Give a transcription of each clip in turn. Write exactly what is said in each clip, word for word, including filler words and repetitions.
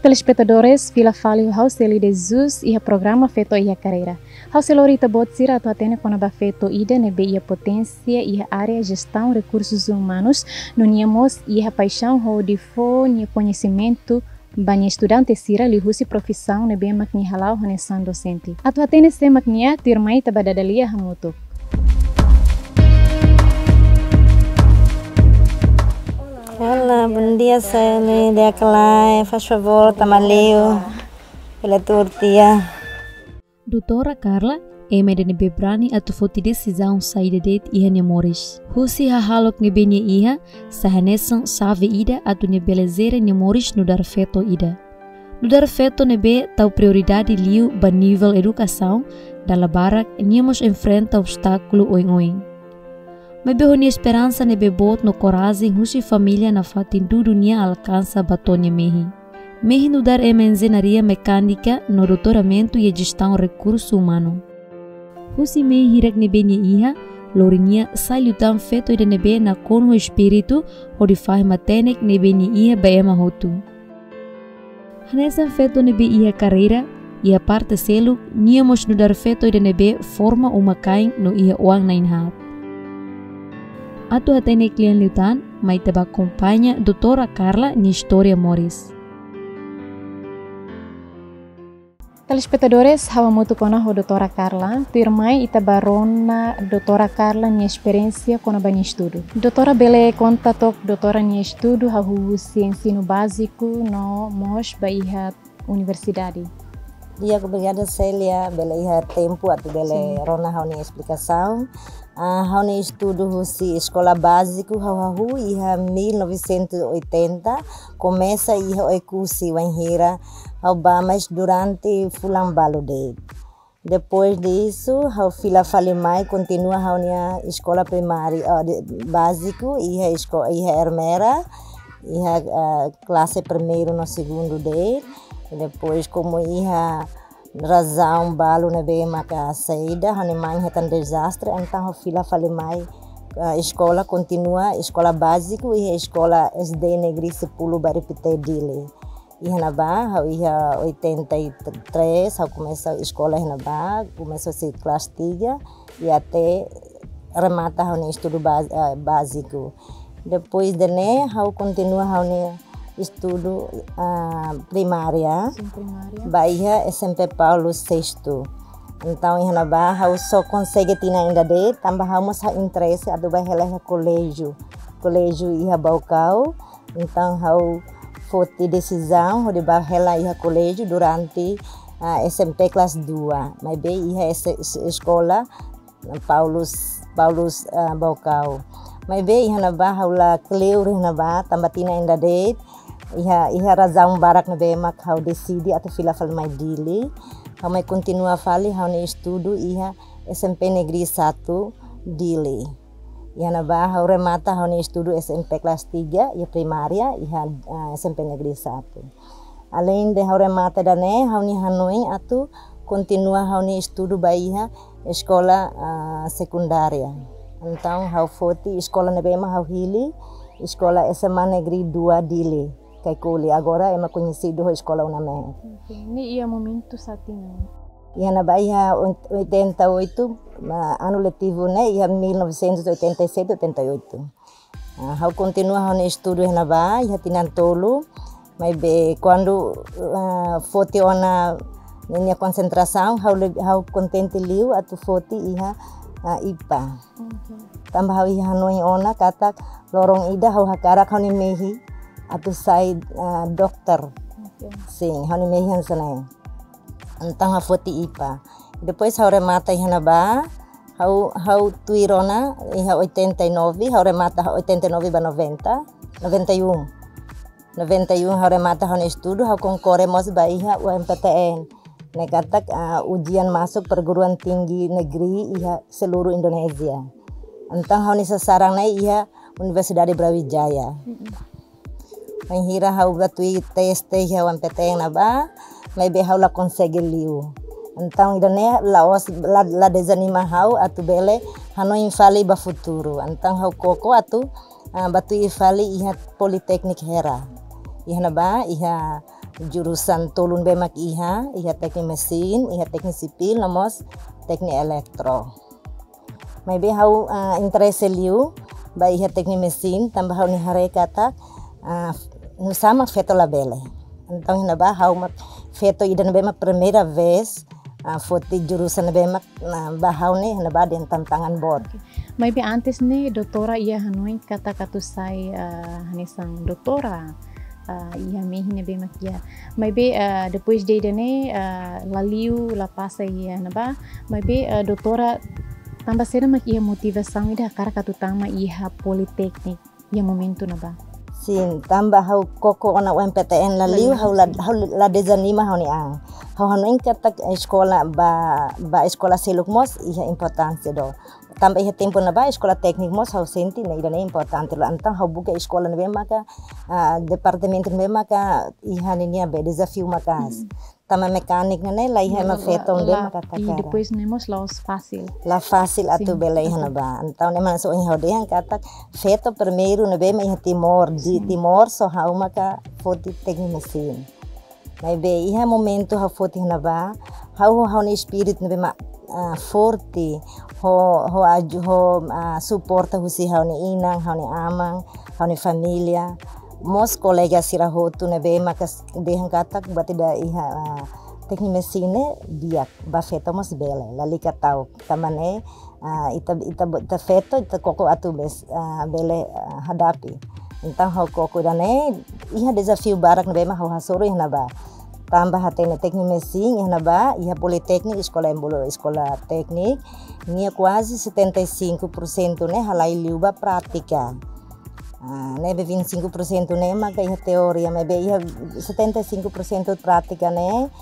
Telespetadores, fila fali ho ha'u Celi de Jesus iha programa Feto iha Karreira. Ha'u sei lori ita-boot sira atu hatene kona-ba feto ida ne'ebé iha poténsia iha área jestaun rekursus umanus, no nia mós iha paixaun hodi fó nia koñesimentu ba nia estudante sira liuhusi profisaun ne'ebé mak nia hala'o hanesan dosente. Atu hatene sé mak nia, tuirmai ita bá dada lia hamutuk. Olá, bom dia, Celi. Di'ak ka lae, faz favor, tama liu. Pela turtia. Doutora Carla, ema ida ne'ebé brani atu foti desizaun saida de'it iha nia moris. Husi hahalok ne'ebé nia iha, sai hanesan xave ida atu nia bele jere nia moris nu'udar feto ida. Nu'udar feto ne'ebé tau prioridade liu ba nivel edukasaun, dala barak nia mós enfrenta obstákulu oioin. Maibé ho nia esperansa ne'ebé boot no korajen husi família nafatin dudu nia alkansa ba to'o nia mehi. Mehi nu'udar ema enjeñaria mekánika no doutoramentu iha jestaun rekursu umanu. Husi mehi hirak ne'ebé nia iha, lori nia sai liután feto ida ne'ebé nakonu ho espíritu hodi fahe matenek ne'ebé nia iha ba ema hotu. Hanesan feto ne'ebé iha karreira, iha parte seluk, nia mós nu'udar feto ida ne'ebé forma uma-kain no iha oan na'in-haat. Atu hatene kle'an liután, mai ita bá akompaña Doutora Carla nia istória moris. Telespetadores, ha'u hamutuk ona ho Doutora Carla, tuirmai ita bá rona Doutora Carla nia esperiénsia kona-ba nia estudu. Doutora bele konta took Doutora nia estudu hahú husi ensinu báziku no mós bá iha universidade. Di'ak, obrigada Celi, bele iha tempu atu bele Sin. Rona ha'u-nia esplikasaun. Ah, ha'u-nia estudu husi eskola báziku ha'u hahú iha mil novecentos e oitenta, komesa iha Oekusi wainhira ha'u bá mais durante fulan balu de'it. Depois disso, ha'u fila fali mai, kontinua ha'u-nia eskola primária, ah, de, báziku, iha esko-, iha Ermera, iha, ah, klase primeiru no segundu de'it. Depois, komu iha razaun balu ne'ebé maka saida, ha'u-nia mãe hetan dezastre, entaun ha'u fila fali mai, ah, eskola, kontinua eskola báziku, iha eskola S D Negri Sepuluh Bairru Pité Dili. Iha ne'ebá, ha'u iha oitenta e três, ha'u komesa eskola iha ne'ebá, komesa husi klase tiga, i até remata ha'u-nia estudu bá-, ah, báziku. Depois de ne'e, ha'u kontinua ha'u-nia estudu, ah, primária. Sin, primária. Bá iha S M P Paulo Sexto. Entaun, iha ne'ebá, ha'u só konsege tinan ida de'it, tanba ha'u mós ha'u interese atu bá hela iha koléjiu. Koléjiu iha Baucau. Entaun, ha'u foti desizaun hodi bá hela iha koléjiu durante, ah, S M P kelas dua. Maibé iha es-, es-, eskola Paulus, Paulus, ah, Baucau. Maibé iha ne'ebá ha'u la kleur iha ne'ebá, tanba tinan ida de'it, iha, iha razaun barak ne'ebé mak ha'u deside atu fila fali mai Dili. Ha'u mai kontinua fali ha'u-nia estudu iha S M P Negeri Satu Dili. Iha ne'ebá ha'u remata ha'u-nia estudu S M P kelas tiga, iha primária, iha, ah, S M P Negeri Satu. Além de ha'u remata ida-ne'e, ha'u-nia hanoin atu kontinua ha'u-nia estudu ba iha eskola, ah, sekundária. Entaun, ha'u foti eskola ne'ebé mak ha'u hili, eskola S M A Negeri Dua Dili, Caicoli. Agora ema koñesidu ho eskola UNAMEC. Oke, ne'e iha momentu saida? Iha ne'ebá iha oitenta e oito, ah, anu letivu ne'e, iha mil novecentos e oitenta e sete, oitenta e oito. Ah, ha'u kontinua ha'u-nia estudu iha ne'ebá, iha tinan tolu, maibé kuandu, ah, foti ona ninia konsentrasaun, ha'u leb-, ha'u kontente liu atu foti iha, ah, IPA. Oke. Tanba ha'u iha hanoin ona katak loron ida ha'u hakarak ha'u-nia mehi atu sai, ah, dokter. Oke. Sin, ha'u-nia mehi hanesan ne'e. Entaun ha'u foti IPA. Depois ha'u remata iha ne'ebá, ha'u, ha'u tuir ona iha oitenta e nove, ha'u remata oitenta e nove ba noventa, noventa e um. Noventa e um ha'u remata ha'u-nia estudu, ha'u konkorre mós ba iha U M P T N. Ne'e katak, ah, ujian masuk perguruan tinggi negeri iha seluruh Indonesia. Entaun ha'u-nia sasaran ne'e iha Universidade Brawijaya. Mm-mm. Bainhira ha'u bá tuir teste iha U M P T N ne'ebá, maibé ha'u la konsege liu. Entaun ida-ne'e la'ós la, la dezanima ha'u atu bele hanoin fali ba futuru. Entaun ha'u koko atu, ah, bá tuir fali iha Politeknik Hera. Iha ne'ebá, iha jurusan tolu ne'ebé mak iha, iha teknik mesin, iha teknik sipil, no mós teknik elektro. Maibé ha'u, ah, interese liu ba iha teknik mesin, tanba ha'u-nia haree katak, ah, nusá mak feto labele. Entaun iha ne'ebá ha'u mak feto ida ne'ebé mak primeira vez, ah, foti jurusan ne'ebé mak, ah, ba ha'u ne'e iha ne'ebá dehan tantangan boot. Maibé antes ne'e doutora iha hanoin katak atu sai, ah, hanesan doutora, ah, iha mehi ne'ebé mak iha. Maibé, ah, depois de ida-ne'e, ah, la liu, la pasa iha ne'ebá. Maibé, ah, doutora, tanba saida mak iha motivasaun ida hakarak atu tama iha politeknik iha momentu ne'ebá? Sin, tanba ha'u koko ona U M P T N la liu, ha'u la, ha'u la dezanima ha'u-nia an. Ha'u hanoin katak eskola ba, ba eskola seluk mós iha importánsia do. Tanba iha tempu ne'ebá eskola teknik mós ha'u sente ne'e ida-ne'e importante loos. Entaun ha'u buka eskola ne'ebé maka, ah, departamentu ne'ebé maka iha ninia be dezafiu maka'as. Tanba mekanik ne'e la iha ema feto ne'ebé maka takara. Depois ne'e mós la'ós fasil. La fasil atu bele iha ne'ebá. Entaun ne'e mak hanesan ohin ha'u dehan katak feto primeiru ne'ebé mak iha Timor, di Timor só ha'u maka foti teknik mesin. Maibé iha momentu ha'u foti iha ne'ebá, ha'u, ha'u-nia espíritu ne'ebé mak, ah, forte, ho, ho aju, ho, ah, suporta husi ha'u-nia inan, ha'u-nia aman, ha'u-nia família. Mós kolega sira hotu ne'ebé maka dehan katak buat ida iha, ah, teknik mesin ne'e di'ak, ba feto mós bele, lalika ta'uk. Tanba ne'e, ah, ita, ita, ita feto, ita koko atu bes, ah, bele, ah, hadapi. Entaun ha'u koko ida-ne'e, iha dezafiu barak ne'ebé mak ha'u hasoru iha ne'ebá. Tanba hatene teknik mesin iha ne'ebá, iha politeknik, eskola embolo, eskola teknik, nia kuaze setenta e cinco por cento ne'e halai liu ba prátika. Ah, ne'ebé vinte e cinco por cento ne'e maka iha teoria, maibé iha setenta e cinco por cento prátika ne'e,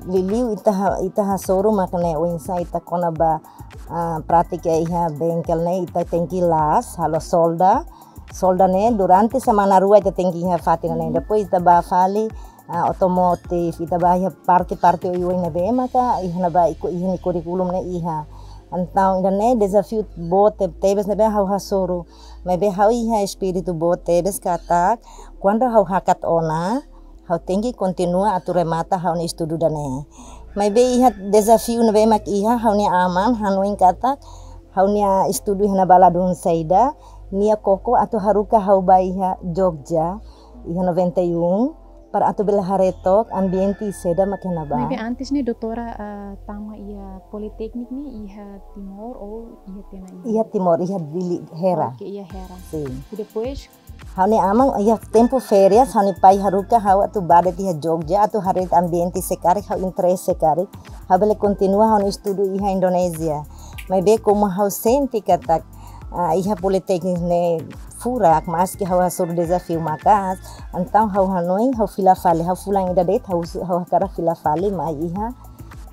liuliu ita ha-, ita hasoru mak ne'e oinsá ita kona-ba, ah, prátika iha bengkel ne'e, ita tenke la'o, halo solda, solda ne'e durante semana rua ita tenke iha fatin ne'e. Depois ita bá fali, ah, otomotif, ita bá iha parte-parte oioin ne'ebé maka iha ne'ebá iha nia kurríkulu ne'e iha. Entaun ida-ne'e dezafiu boot tebes ne'ebé ha'u hasoru. Maibé ha'u iha espíritu boot tebes katak, kuandu ha'u hakat ona, ha'u tenke kontinua atu remata ha'u-nia estudu ida-ne'e. Maibé iha dezafiu ne'ebé mak iha, ha'u-nia aman hanoin katak ha'u-nia estudu iha ne'ebá ladún saida, nia koko atu haruka ha'u bá iha Jogja, iha noventa e um, para atu bele haree took ambiente saida mak iha ne'ebá. Maibé antes ne'e doutora, ah, tama iha politeknik ne'e iha Timor ou iha tiha ona iha? Iha Timor, iha Dili, Hera. Oke, iha Hera. Sin. E depois? Ha'u-nia aman, iha tempu férias, ha'u-nia pai haruka ha'u atu bá de'it iha Jogja, atu haree ambiente se karik, ha'u interese karik ha'u bele kontinua ha'u-nia estudu iha Indonézia. Maibé komu ha'u sente katak, ah, iha politeknik ne'e furak, maski ha'u hasoru dezafiu maka'as, entaun ha'u hanoin, ha'u fila fali, ha'u fulan ida de'it, ha'u su-, ha'u hakarak fila fali mai iha,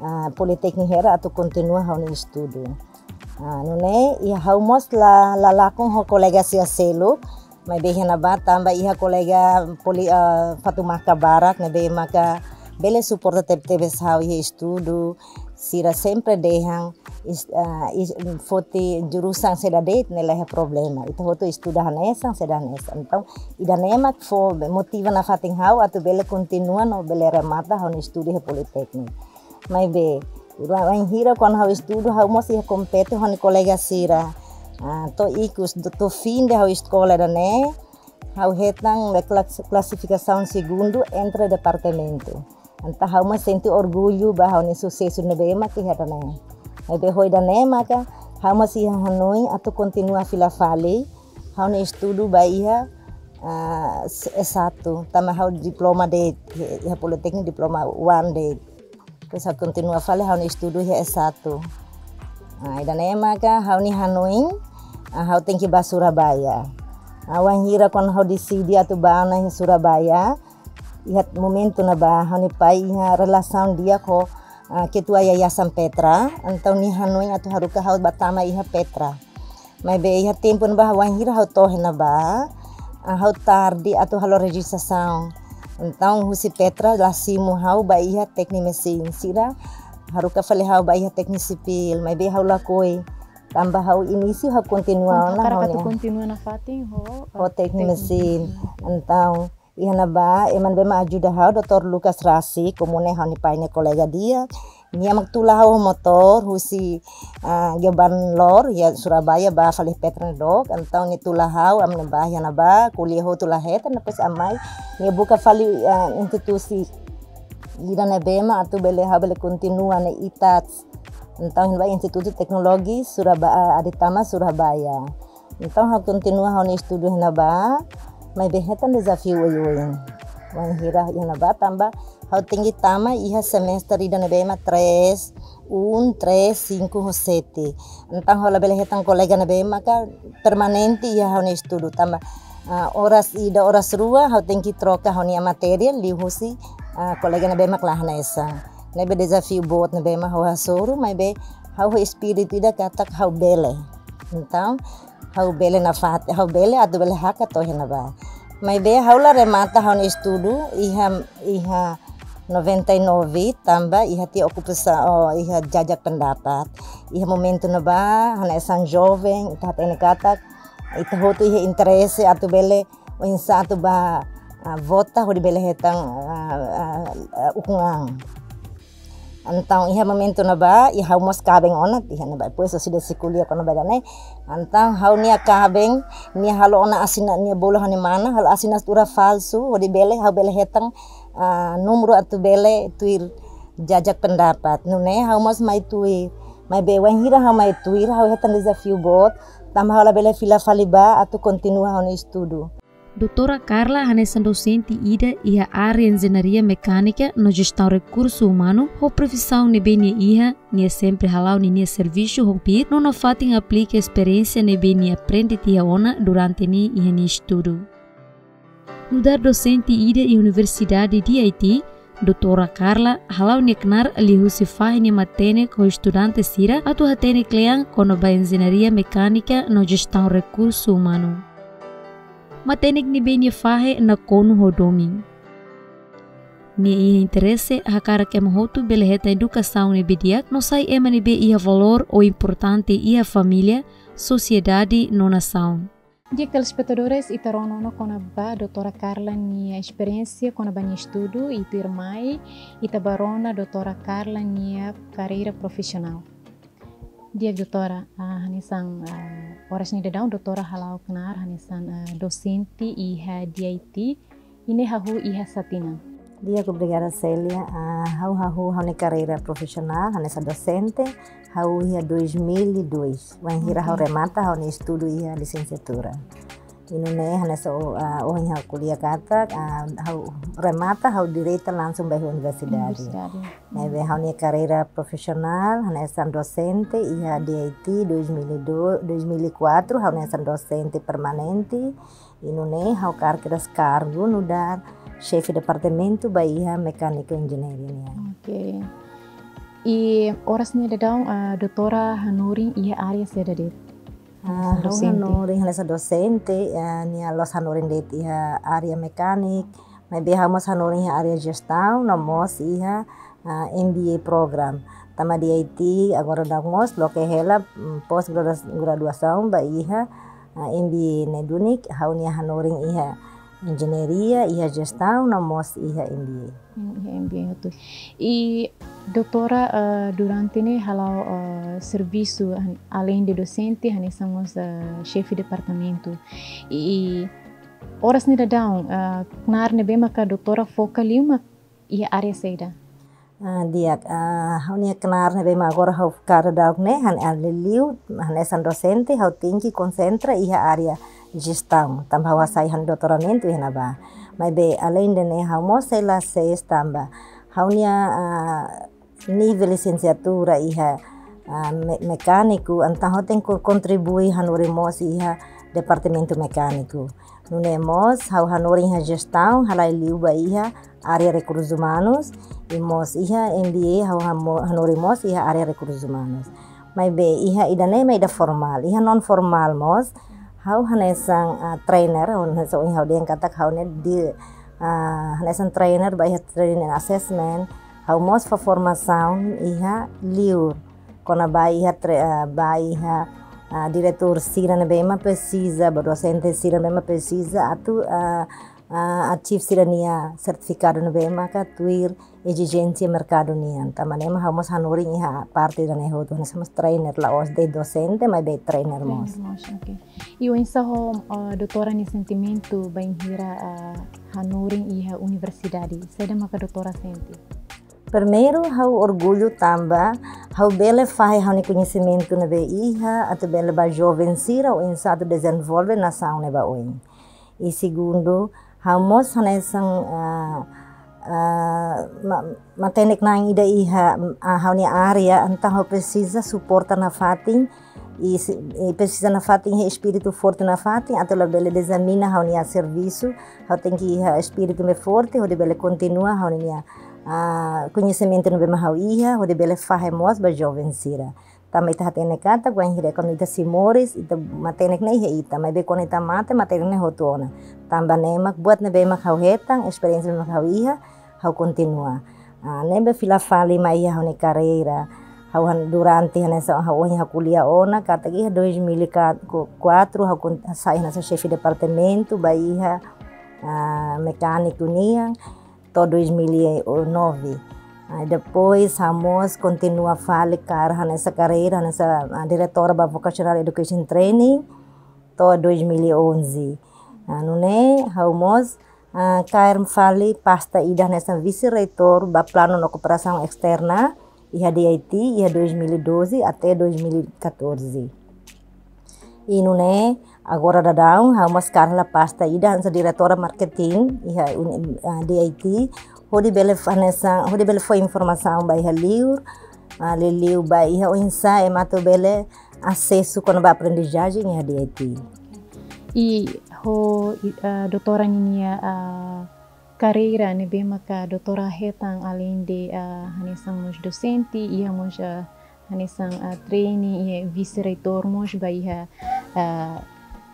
ah, politeknik Hera atu kontinua ha'u-nia estudu. Ah, nune'e, iha ha'u mós la, la lakon ho kolega sira seluk, maibé iha ne'ebá tanba iha kolega poli-, ah, Fatumaka barak ne'ebé maka bele suporta teb-, tebes ha'u iha estudu, sira sempre dehan, is-, ah, is-, foti jurusan saida de'it ne'e la iha problema. Ita hotu estuda hanesan, saida hanesan. Entaun, ida-ne'e mak fó motiva nafatin ha'u atu bele kontinua no bele remata ha'u-nia estudu iha politeknik. Maibé, wa-, wainhira kuandu ha'u estuda, ha'u mós iha kompete ho ha'u-nia kolega sira. Ah, to'o ikus, to'o, to'o fin de ha'u eskola ida-ne'e, ha'u hetan klas-, klasifikasaun segundu entre departamentu. Entaun ha'u mós sente orgullu ba ha'u-nia susesu ne'ebé mak iha ida-ne'e. Maibé ho ida-ne'e maka ha'u mós iha hanoin atu kontinua fila fali ha'u-nia estudu ba iha, ah, S satu, tanba ha'u diploma de'it, iha politeknik diploma one de'it. Terus ha'u kontinua fali ha'u-nia estudu iha S satu. Ah, ida-ne'e maka ha'u-nia hanoin, ah, ha'u tenke bá Surabaya. Ah, wainhira kuandu ha'u deside atu bá ona iha Surabaya, iha momentu ne'ebá ha'u-nia pai iha relasaun di'ak ho, ah, ketua Yayasan Petra, entaun nia hanoin atu haruka ha'u bá tama iha Petra. Maibé iha tempu ne'ebá wainhira ha'u to'o iha ne'ebá, ah, ha'u tarde atu halo rejistrasaun. Entaun husi Petra la simu ha'u ba iha teknik mesin, sira haruka fali ha'u ba iha teknik sipil, maibé ha'u lakohi. Tanba ha'u inísiu ha'u kontinua ona ha'u-nia, hakarak atu kontinua nafatin ho, ho, eh, teknik, teknik mesin. Entaun Iha ne'ebá, ema ne'ebé mak ajuda ha'u, doutór Lucas Rasik, komu ne'e ha'u-nia pai nia kolega di'ak. Nia mak tula ha'u motór, husi, ah, Geoban Lor, iha Surabaya, ba fali Petra ne'e dook. Entaun nia tula ha'u, ami-nia bá iha ne'ebá, ko'alia hotu la hetan, depois ami mai, nia buka fali, ah, institusi ida ne'ebé mak atu bele, ha'u bele kontinua ne'e ITATS. Entaun, ba Institutu Teknologi Suraba-, ah, Aditama Surabaya. Entaun, ha'u kontinua ha'u-nia estudu iha ne'ebá, maibé hetan dezafiu oioin. Wainhira iha ne'ebá tanba ha'u tenke tama iha semestre ida ne'ebé mak três, um, três, cinco ho sete. Entaun, ha'u labele hetan kolega ne'ebé maka permanente iha ha'u-nia estudu tanba, ah, oras ida, oras rua, ha'u tenke troka ha'u-nia matéria, liuhusi, ah, kolega ne'ebé mak la hanesan. Ne'ebé dezafiu boot ne'ebé mak ha'u hasoru, maibé ha'u ho espíritu ida katak ha'u bele. Entaun, ha'u bele nafatin, ha'u bele atu bele hakat to'o iha ne'ebá. Maibé ha'u la remata ha'u-nia estudu iha, iha noventa e nove tanba iha tiha okupasaun, oh, iha jajak pendapat. Iha momentu ne'ebá, hanesan joven, ita hatene katak, ita hotu iha interese atu bele, oinsá atu bá, ah, vota hodi bele hetan, ah, ah, ah, ukun an. Entaun, iha momentu ne'ebá, iha ha'u mós kaben ona, iha ne'ebá, depois ha'u sei de'it ko'alia kona-ba ida-ne'e. Entaun, ha'u-nia kaben, nia halo ona asina, nia bolu ha'u-nia mana, halo asinatura falsu, hodi bele, ha'u bele hetan, ah, númeru atu bele tuir jajak pendapat. Nune'e, ha'u mós mai tuir. Maibé wainhira ha'u mai tuir, ha'u hetan dezafiu boot, tanba ha'u labele fila fali bá, atu kontinua ha'u-nia estudu. Doutora Carla hanesan dosente ida iha área Enjeñaria Mekánika no Jestaun Rekursu Umanu, ho profisaun ne'ebé nia iha, nia sempre hala'o ninia servisu ho piit, no nafatin aplika esperiénsia ne'ebé nia aprende tiha ona durante nia iha nia estudu. Nu'udar dosente ida iha Universidade D I T, Doutora Carla hala'o nia knaar liuhusi fahe nia matenek ho estudante sira atu hatene kle'an kona-ba Enjeñaria Mekánika no Jestaun Rekursu Umanu. Matenek ne'ebé nia fahe nakonu ho domin. Nia iha interese hakarak ema hotu bele hetan edukasaun ne'ebé di'ak no sai ema ne'ebé iha valór ou importante iha família, sosiedade no nasaun. Di'ak telespetadores, ita rona ona kona-ba Doutora Carla nia esperiénsia kona-ba nia estudu, i tuirmai ita bá rona Doutora Carla nia karreira profisionál. Di'ak Doutora, ah, hanesan, ah, oras ne'e daudaun Doutora hala'o knaar hanesan, ah, dosente iha D I T, i ne'e hahú iha sá tinan? Di'ak, obrigada Célia. Ah, ha'u hahú ha'u-nia karreira profisionál hanesan dosente, ha'u iha dois mil e dois. Wainhira ha'u, ok, remata ha'u-nia estudu iha lisensiatura. I nune'e hanesan, ah, ohin ha'u ko'alia katak, ah, ha'u remata ha'u direta langsung ba universidade. Universidade. Ne'ebé ha'u-nia karreira profisionál hanesan dosente iha D I T dois mil e dois, dois mil e quatro, ha'u hanesan dosente permanente. I nune'e ha'u hakarak kedas kargu nu'udar xefe departamentu ba iha mecânica engineering nian. Ok. I oras ne'e daudaun, ah, Doutora hanorin iha área saida de'it? Ah, hanesan ha'u dosente. Hanorin hanesan dosente, ah, nia la'ós hanorin de'it iha área mekanik, maibé ha'u mós hanorin iha área jestaun, no mós iha, ah, M B A program. Tanba D I T agora daudaun mós loke hela, mm, pós gradua-, graduasaun ba iha, ah, M B A ne'e duni, ha'u-nia hanorin iha enjeñaria, iha jestaun, no mós iha M B A. Hmm, iha M B A hotu. I Doutora, eh, durante ne'e hala'o, eh, servisu han-, além de dosente, hanesan mós, eh, xefe departamentu. I oras ne'e daudaun, eh, knaar ne'ebé maka Doutora foka liu mak iha área saida? Ah, di'ak, ah, ha'u-nia knaar ne'ebé mak agora ha'u foka daudaun ne'e, han-, ah, liuliu, hanesan dosente, ha'u tenke konsentra iha área jestaun, tanba ha'u hasai ha'u-nia doutoramentu iha ne'ebá. Maibé, além de ne'e, ha'u mós sei la sees tanba ha'u-nia, ah, nivel lisensiatura iha, ah, me-, mekániku, entaun ha'u tenke kontribui hanorin mós iha departamentu mekániku. Nune'e mós, ha'u hanorin iha jestaun, halai liu ba iha área rekursus umanus, i mós iha M B A, ha'u hamo-, hanorin mós iha área rekursus umanus. Maibé iha ida-ne'e mak ida formál, iha non formál mós, ha'u hanesan, ah, trainer, ha'u hanesan ohin ha'u dehan katak ha'u ne'e di, ah, hanesan trainer ba iha training and assessment, ha'u mós fó formasaun iha liur, kona-ba iha tre-, ah, ba iha, ah, diretór sira ne'ebé mak presiza, ba dosente sira ne'ebé mak presiza, atu, ah, ah, achieve sira-nia sertifikadu ne'ebé maka tuir ezijénsia merkadu nian. Tanba ne'e mak ha'u mós hanorin iha parte ida-ne'e hotu, hanesan mós trainer, la'ós de'it dosente, maibé trainer mós. Trainer mós, oke. I oinsá ho, ah, doutora nia sentimentu bainhira, ah, hanorin iha universidade? Saida maka doutora sente? Primeiru, ha'u orgullu tanba ha'u bele fahe ha'u-nia koñesimentu ne'ebé iha, atu bele ba joven sira oinsá atu dezenvolve nasaun ne'e ba oin. I segundu, ha'u mós hanesan, ah, ah, ma-, matenek-na'in ida iha, ah, ha'u-nia área, entaun ha'u presiza suporta nafatin, i se-, i presiza nafatin iha espíritu forte nafatin, atu labele dezanima ha'u-nia servisu, ha'u tenke iha espíritu ne'ebé forte, hodi bele kontinua ha'u-nia, ah, koñesimentu ne'ebé mak ha'u iha, hodi bele fahe mós ba joven sira. Tanba ita hatene katak, wainhira kuandu ita sei moris, ita matenek ne'e iha ita, maibé kuandu ita mate, matenek ne'e hotu ona. Tanba ne'e mak buat ne'ebé mak ha'u hetan, esperiénsia ne'ebé mak ha'u iha, ha'u kontinua. Ah, ne'ebé fila fali mai iha ha'u-nia karreira. Ha'u han-, durante hanesan ha'u ohin ha'u ko'alia ona, katak iha dois mil e quatro, ha'u kon-, sai hanesan xefe departamentu, ba iha, ah, mekániku nian, to'o dois mil e nove. Ah, depois, ha'u mós kontinua fali kaer hanesan karreira, hanesan, ah, diretora ba Vocational Education Training, to'o dois mil e onze. Ah, nune'e, ha'u mós, ah, kaer fali pasta ida hanesan vise-reitór ba planu no kooperasaun esterna, iha D I T, iha dois mil e doze até dois mil e catorze. I nune'e, agora daudaun, ha'u mós kaer pasta ida hanesan diretora marketing, iha uni-, ah, D I T, hodi bele f-, hanesan, hodi bele fó informasaun ba iha liur, ah, liuliu ba iha oinsá ema atu bele asesu kona-ba aprendizajen iha D I T. I ho, i, ah, doutora ninia, ah, karreira ne'ebé maka doutora hetan além de, ah, hanesan mós dosente, iha mós, ah, hanesan, ah, trainee, iha vise-reitór mós ba iha, ah,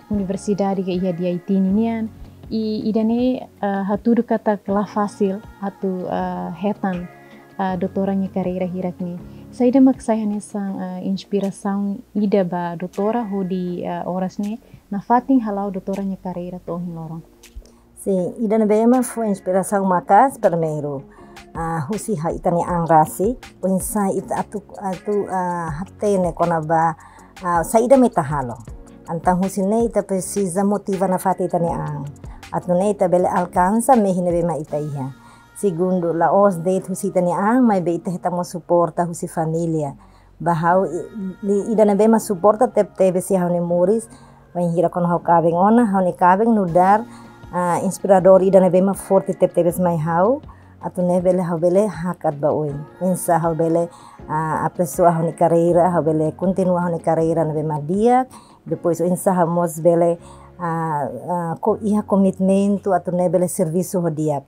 universidade ka iha D I T ninian. I ida-ne'e, ah, hatudu katak la fasil atu, ah, hetan, ah, doutora nia karreira hirak ne'e. Saida mak sai hanesan, ah, inspirasaun ida ba doutora hodi, ah, oras ne'e nafatin hala'o doutora nia karreira to'o ohin loron? Sin, ida ne'ebé mak fó inspirasaun maka'as primeiru, ah, husi ha'u ita-nia an rasik, oinsá ita atu, atu, ah, hatene kona-ba, ah, saida mak ita halo. Entaun husi ne'e ita presiza motiva nafatin ita-nia an. Atu nune'e ita bele alkansa mehi ne'ebé mak ita iha. Segundu, la'ós de'it husi ita-nia an, maibé ita hetan mós suporta husi família. Ba ha'u i, i, ida ne'ebé mak suporta tebetebes iha ha'u-nia moris, bainhira kuandu ha'u kaben ona, ha'u-nia kaben nu'udar, ah, inspiradór ida ne'ebé mak forte tebetebes mai ha'u, atu nune'e bele ha'u bele hakat ba oin. Oinsá ha'u bele, ah, aperfeisoa ha'u-nia karreira, ha'u bele kontinua ha'u-nia karreira ne'ebé mak di'ak, depois oinsá ha'u mós bele, ah, ah, ko-, iha komitmentu atu nune'e bele servisu ho di'ak.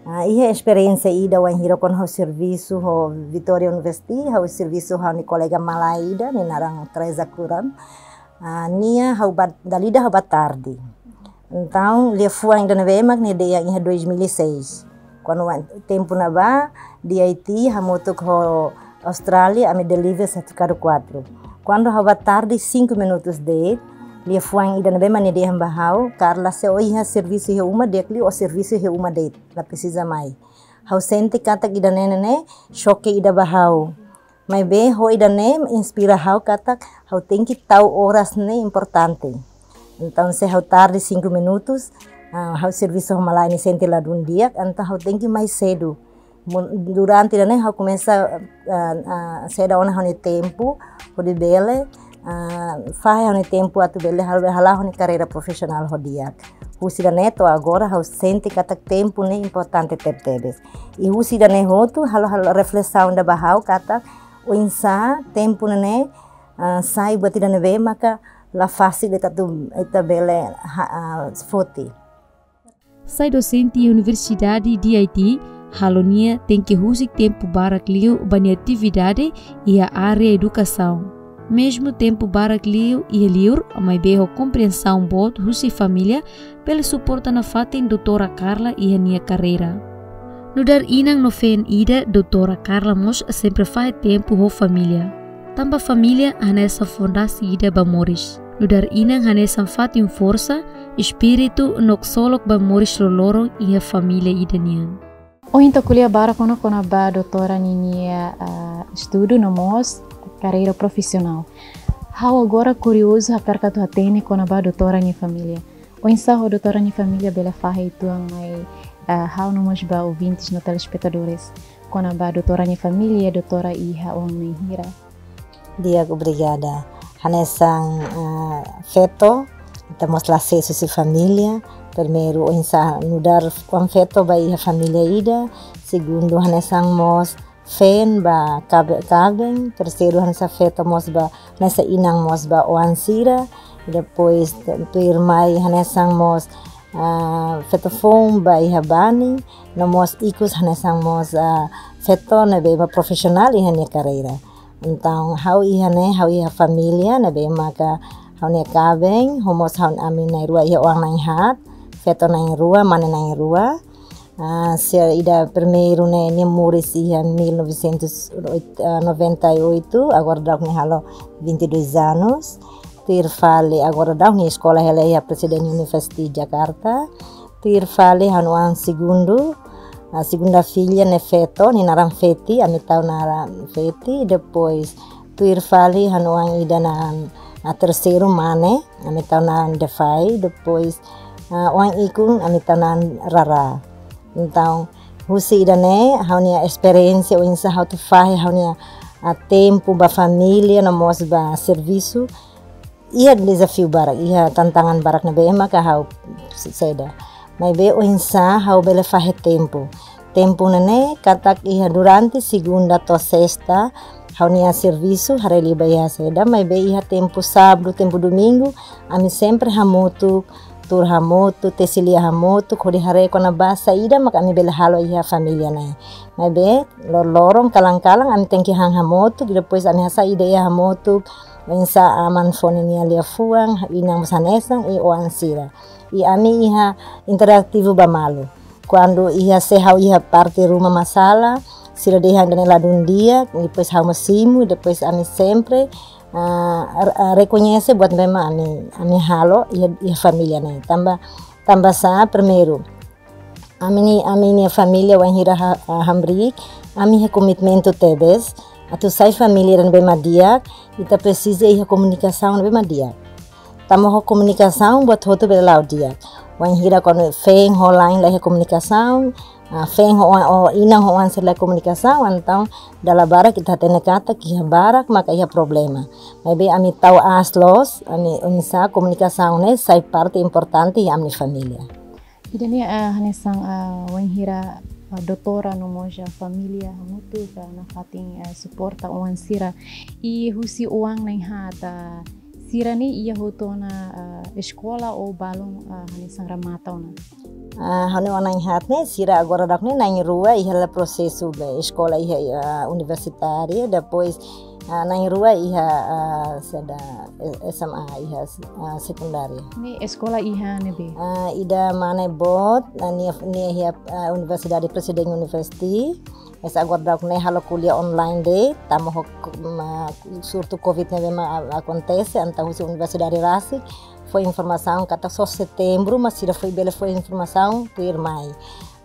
Ah, iha esperiénsia ida wainhira kuandu ha'u servisu ho Victoria University, ha'u servisu ho ha'u-nia kolega malae ida, nia naran Teresa Kuram. Ah, nia ha'u ba, dala ida ha'u ba tarde. Entaun, liafuan ida ne'ebé mak nia dehan iha dois mil e seis. Kuandu wa-, tempu ne'ebá, D I T hamutuk ho Austrália, ami deliver sertifikadu quatro. Kuandu ha'u ba tarde cinco minutos de'it, liafuan ida ne'ebé mak nia dehan ba ha'u, Carla, se ó iha servisu iha uma di'ak liu, ó servisu iha uma de'it, la presiza mai. Ha'u sente katak ida-ne'e ne'e choque ida ba ha'u. Maibé ho ida-ne'e inspira ha'u katak ha'u tenke tau oras ne'e importante. Entaun se ha'u tarde cinco minutos, ah, ha'u servisu ho malae nia sente ladún di'ak, entaun ha'u tenke mai sedu. Mu-, durante ida-ne'e ha'u komesa, ah, ah, seda ona ha'u-nia tempu, hodi bele, ah, fahe ha'u-nia tempu atu bele hal-, hala'o ha'u-nia karreira profisionál ho di'ak. Husi ida-ne'e to'o agora ha'u sente katak tempu ne'e importante tebetebes. I husi ida-ne'e hotu halo, halo reflesaun ida ba ha'u katak oinsá tempu ne'e, ah, sai buat ida ne'ebé maka la fasil ita atu, ita bele ha-, ah, foti. Sai dosente iha Universidade D I T, halo nia tenke husik tempu barak liu ba nia atividade iha área edukasaun. Mezmu tempu barak liu iha liur, maibé ho kompriensaun boot husi família, bele suporta nafatin Doutora Carla iha nia karreira. Nu'udar inan no feen ida, Doutora Carla mós sempre fahe tempu ho família. Tanba família hanesan fondasi ida ba moris. Nu'udar inan hanesan fatin forsa, espíritu no ksolok ba moris loroloron iha família ida nian. Ohin ita ko'alia barak ona kona-ba doutora ninia, ah, estudu no mós karreira profisionál. Ha'u agora kuriozu hakarak atu hatene kona-ba doutora nia família. Oinsá ho doutora nia família bele fahe uitoan mai, ah, ha'u no mós ba ouvintes no telespetadores kona-ba doutora nia família, doutora iha oan na'in hira? Di'ak, obrigada. Hanesan, ah, feto, ita mós la ses husi família. Primeiru, oinsá nu'udar oan-feto ba iha família ida. Segundu, hanesan mós feen ba kabe-, kaben. Terseiru, hanesan feto mós ba, hanesan inan mós ba oan sira. Depois, tuirmai, hanesan mós, ah, feto foun ba iha bani. No mós ikus hanesan mós, ah, feto ne'ebé mak profisionál iha nia karreira. Entaun, ha'u iha ne'e, ha'u iha família ne'ebé maka ha'u-nia kaben, ho mós ha'u, ami na'in-rua iha oan na'in-haat, feto na'in-rua, mane na'in-rua. Ah, sira ida primeiru ne'e, nia moris iha mil novecentos e noventa e oito, agora daudaun nia halo vinte e dois anos. Tuir fali, agora daudaun nia eskola hela iha Presidente University Jakarta. Tuir fali ha'u-nia oan segundu, ah, segunda filha ne'e feto, nia naran Feti, ami tau naran Feti. Depois, tuir fali ha'u-nia oan ida naran, ah, terseiru mane, ami tau naran Defai. Depois, ah, oan ikun, ami tau naran Rara. Entaun, husi ida-ne'e, ha'u-nia esperiénsia oinsá ha'u atu fahe ha'u-nia, ah, tempu ba família, no mós ba servisu. Iha dezafiu barak, iha tantangan barak ne'ebé maka ha'u se-, saida. Maibé oinsá ha'u bele fahe tempu. Tempu ne'e ne'e katak iha durante segunda to'o sesta, ha'u-nia servisu haree liu ba iha saida, maibé iha tempu sábadu, tempu domingu, ami sempre hamutuk, tuur hamutuk, tesi lia hamutuk, hodi haree kona-ba saida maka ami bele halo iha família ne'e. Maibé loroloron kalan-kalan ami tenke han hamutuk, depois ami hasai ideia hamutuk, oinsá aman fó ninia liafuan, inan mós hanesan, i oan sira. I ami iha interativu ba malu. Kuandu iha se ha'u iha parte ruma masalah, sira dehan ida-ne'e ladún di'ak, depois ha'u mós simu, depois ami sempre, ah, re-, ah, rekoñese buat ne'ebé mak ami, ami halo iha, iha família ne'e. Tanba, tanba sá, primeiru, ami-nia, ami-nia família wainhira ha-, ah, hamriik, ami iha komitmentu tebes, atu sai família ida ne'ebé mak di'ak, ita presiza iha komunikasaun ne'ebé mak di'ak. Tanba ho komunikasaun buat hotu bele la'o di'ak. Wainhira kuandu feen ho la'en la iha komunikasaun, ah, feen ho oan, ho inan ho oan sira la iha komunikasaun, entaun dala barak ita hatene katak iha barak maka iha problema. Maibé ami tau aas loos, ami oinsá komunikasaun ne'e sai parte importante iha ami-nia família. Ida-ne'e, ah, hanesan, ah, wainhira, ah, doutora no mós família hamutuk, ah, nafatin, ah, suporta oan sira. I husi oan na'in-haat, ah, sira-ne'e iha hotu ona, ah, eskola ou balun, ah, hanesan remata ona? Ah, ha'u-nia oan na'in-haat ne'e, sira agora daudaun ne'e na'in-rua iha hela prosesu ba eskola iha, ah, universitária, depois, ah, na'in-rua iha, ah, saida, eh, S M A iha, ah, sekundária. Ne'e eskola iha ne'ebé? Ah, ida mane boot, ah, nia, nia iha, ah, Universidade Presidente University. Esa agora daudaun ne'e halo ko'alia online de'it, tanba ho ko-, ma, surtu covid ne'ebé mak a-, akontese, entaun husi universidade rasik fó informasaun katak só setembru mak sira foin bele fó informasaun tuirmai.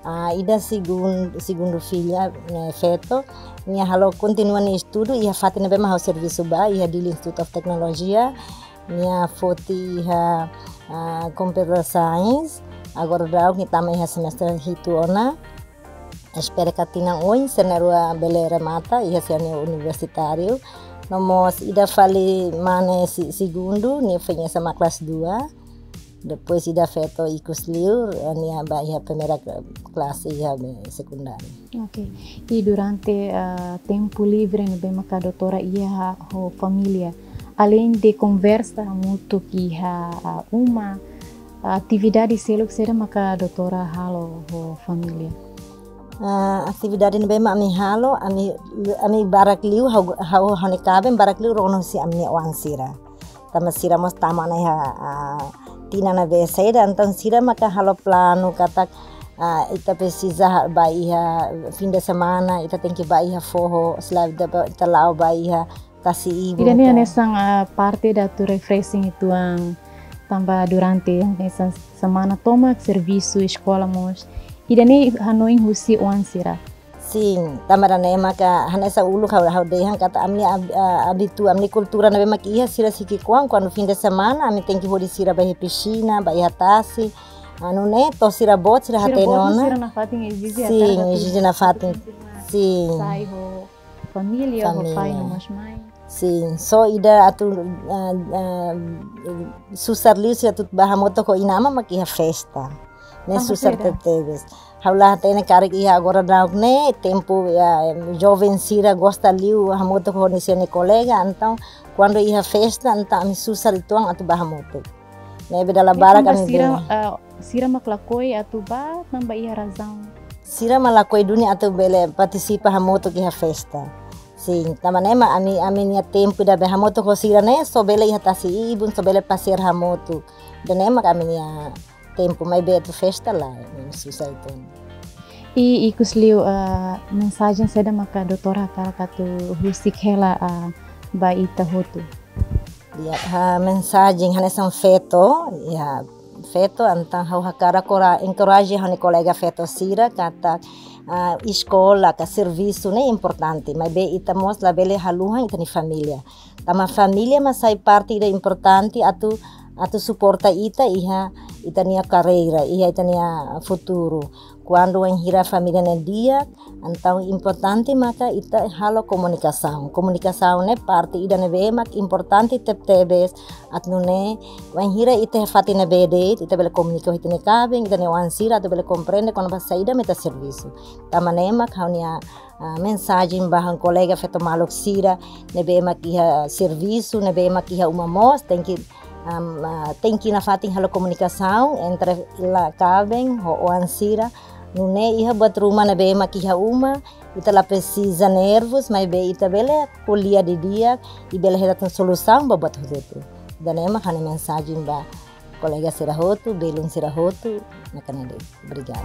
Ah, ida segun-, segundu filha, ne'e feto, nia halo kontinua nia estudu iha fatin ne'ebé mak ha'u servisu ba, iha Dili Institute of Technology. Nia foti iha, ah, Computer Science, agora daudaun nia tama iha semestre hitu ona. Espera katak tinan oin sira na'in-rua bele remata iha sira-nia universitáriu. No mós ida fali mane se-, segundu, nia foin S M A kelas dua. Depois ida feto ikus liu, nia ba iha primeira kla-, klase iha be-, sekundária. Ok. I durante, ah, tempu livre ne'ebé maka doutora iha ho família, aleinde konversa hamutuk iha, ah, uma, atividade seluk saida maka doutora halo ho família? Ah, atividade ne'ebé mak ami halo, ami, ami barak liu, ha'u, ha'u, ha'u-nia kaben barak liu rona husi ami-nia oan sira. Tanba sira mós tama ona iha, ah, tinan ne'ebé saida, entaun sira maka halo planu katak, ah, ita presiza ha-, ba iha fim de semana, ita tenke ba iha foho, se lae ita ba, ita la'o ba iha Tasi-ibun. Ida-ne'e hanesan, ah, parte ida atu refreshing uitoan, tanba durante hanesan semana tomak servisu, eskola mós. Ida-ne'e hanoin husi oan sira. Sin, tanba ida-ne'e maka hanesan uluk ha'u, ha'u dehan katak ami ab-, ah, abitua, ami kultura ne'ebé mak iha, sira sei ki'ikoan, kuandu fim de semana ami tenke hodi sira ba iha pisina, ba iha tasi. Ah, nune'e to'o sira boot, sira hatene ona. Sira boot, sira nafatin ezije. Sin, ezije nafatin. Sin. Sai ho família, ho pai, família, no mós mãe. Sin, só ida atu, ah, ah, susar liu sira atu bá hamutuk ho inan-aman mak iha festa. Ne'e susar tebetebes. Ha'u la hatene karik iha agora daudaun ne'e, tempu, ah, joven sira gosta liu hamutuk ho nia sira-nia kolega, entaun kuandu iha festa, entaun ami susar uitoan atu bá hamutuk. Ne'ebé dala barak ami sira, bele, ah, sira mak lakohi atu bá, tanba iha razaun. Sira mak lakohi duni atu bele partisipa hamutuk iha festa. Sin, tanba ne'e mak ami, ami-nia tempu ida bele hamutuk ho sira ne'e, só bele iha tasi-ibun, só bele pasiar hamutuk. Ida-ne'e mak ami-nia tempu, maibé atu festa lae, ne'e susar uitoan. I ikus liu, ah, mensajen saida maka doutora hakarak atu husik hela, ah, ba ita hotu? Ya, ah, mensajen hanesan feto, ya, feto, entaun ha'u hakarak kora-, encourage ha'u-nia kolega feto sira katak, ah, eskola ka servisu ne'e importante, maibé ita mós labele haluha ita-nia família. Tanba família mak sai parte ida importante atu, atu suporta ita iha ita-nia karreira, iha ita-nia futuru. Kuandu wainhira família ne'e di'ak, entaun importante maka ita halo komunikasaun. Komunikasaun ne'e parte ida ne'ebé mak importante tebetebes, atu nune'e wainhira ita iha fatin ne'ebé de'it, ita bele komunika ho ita-nia kaben, ita-nia oan sira, atu bele komprende kona-ba saida mak ita servisu. Tanba ne'e mak ha'u-nia, ah, mensajen ba ha'u-nia kolega feto maluk sira ne'ebé mak iha servisu, ne'ebé mak iha uma mós, tenke, am, ah, tenke nafatin halo komunikasaun entre la kaben ho oan sira. Nune'e iha buat ruma ne'ebé mak iha uma, ita la presiza nervus, maibé ita bele ko'alia didi'ak, i bele hetan solusaun ba buat hotu-hotu. Ida-ne'e mak ha'u-nia mensajen ba kolega sira hotu, belun sira hotu, ne'e kona de'it. Obrigada.